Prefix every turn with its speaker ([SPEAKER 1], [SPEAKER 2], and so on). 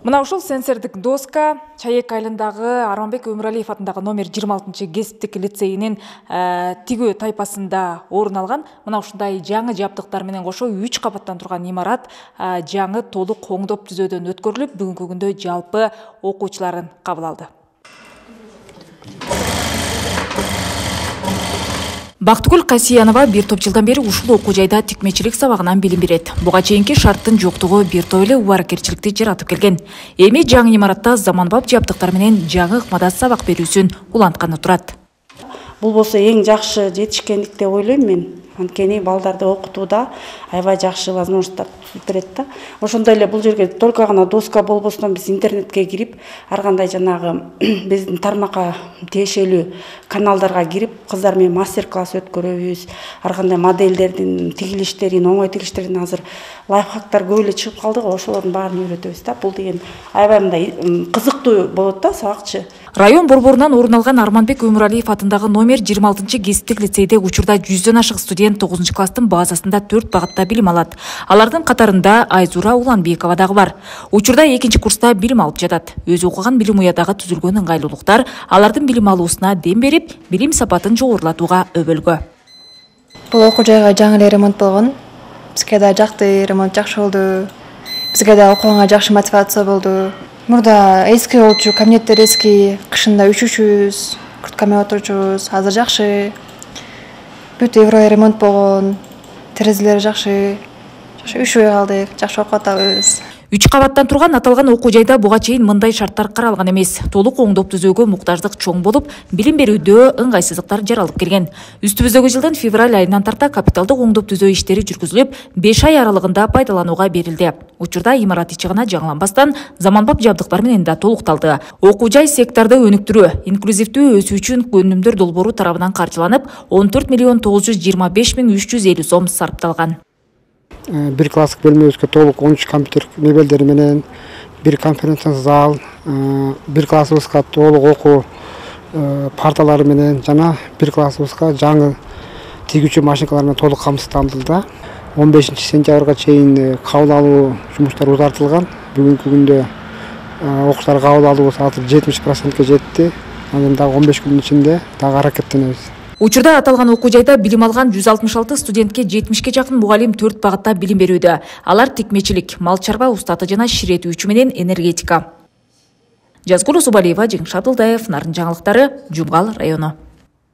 [SPEAKER 1] Мына ушул сенсордук доска Чаек айылындагы Арманбек Өмүралиев атындагы номер 26 кесиптик лицейинин тигүү тайпасында орун алган. Мына ушундай жаңы жабдыктар менен кошо 3 кабаттан турган имарат жаңы толук оңдоп түзөөдөн өткөрүлүп, бүгүнкү күндө жалпы окуучуларын кабыл алды. Бактыгүл Касиянова бир топ жылдан бери ушул окуу жайда тикмечилик сабагынан билим берет. Буга чейинки шарттын жоктугу бир топ эле убаракерчиликти жаратып келген. Эми жаңы имаратта заманбап жабдыктар менен жаңы ыкмада сабак берүүсүн улантканы турат.
[SPEAKER 2] Бул болсо эң жакшы жетишкендик деп ойлойм мен. Анткени балдарды окутууда аябай жакшы возможностьтар берет да. Ошондой эле бул жерге только гана доска болбостон биз интернетке кирип, ар кандай жанагы биздин тармакка тиешелүү каналдарга кирип, кыздар менен мастер-класс өткөрөбүз. Ар кандай модельдердин тигилиштерин, оңой тигилиштерин азыр лайфхактар көп эле чыгып калды го, ошолордун баарын үйрөтөбүз да. Бул деген аябай мындай кызыктуу болот да сабакчы.
[SPEAKER 1] Район борборунан орун алган Арманбек Өмүралиев атындагы номер 26 кесиптик лицейде учурда 100дөн ашык студент 9 класстын базасында 4 багытта билим алат. Алардын катарында Айзура Уланбекова дагы бар. Учурда 2 курста билим алып жатат. Өзү окуган билим уядагы түзүлгөн ыңгайлуулуктар алардын билим алуусуна дем берип, билим сапатын жогорулатууга өбөлгө.
[SPEAKER 3] Бул окуу жайга жаңы эле ремонт болгон. Бизге да жакты, ремонт жакшы болду. Бизге да окуганга жакшы мотивация болду. Мурда эски болчу, кабинеттер эски, кышында üşүшүбүз, куртками отурчубуз, азыр жакшы. Бүт евро ремонт болгон, терезелери жакшы. Üşүбөй калдык, жакшы окуп атабыз.
[SPEAKER 1] 3 кабаттан турган аталган окуу жайда буга чейин мындай шарттар каралган эмес. Толук оңдоп түзөөгө муктаждык чоң болуп, билим берүүдө ыңгайсыздыктар жаралып келген. Үстүбүздөгү жылдын февраль айынан тарта капиталдык оңдоп түзөө иштери жүргүзүлүп, 5 ай аралыгында пайдаланууга берилди. Учурда имарат ичи гана жаңыланбастан заманбап жабдыктар менен да толукталды. Окуу жай секторду өнүктүрүү, инклюзивдүү өсүү үчүн өнүмдөр долбоору тарабынан каржыланып, 14 миллион 925 миң 350 сом сарпталган.
[SPEAKER 4] Bir класстык бөлмөбүзгө толук 13 компьютер мебелдери менен, bir конференция зал, bir классыбызга толук окуу парталары менен жана bir классыбызга жаңы тигүүчү машинкалар менен толук камсыздандырылды. 15 сентябрга чейин кабыл алуу жумуштары узартылган. Бүгүнкү күндө окуучулар кабыл алуубуз азыр 70%ке жетти. Анан дагы 15 күндүн ичинде дагы аракеттенебиз.
[SPEAKER 1] Учурда аталган окуу жайда билим алган 166 студентке 70ке жакын мугалим 4 багытта билим берүүдө. Алар тикмечилик, мал чарба устаты жана ширетүүчү менен энергетика. Жазгул Усубалиева, Жеңиш Абдылдаев, Нарын жаңылыктары, Жумгал району.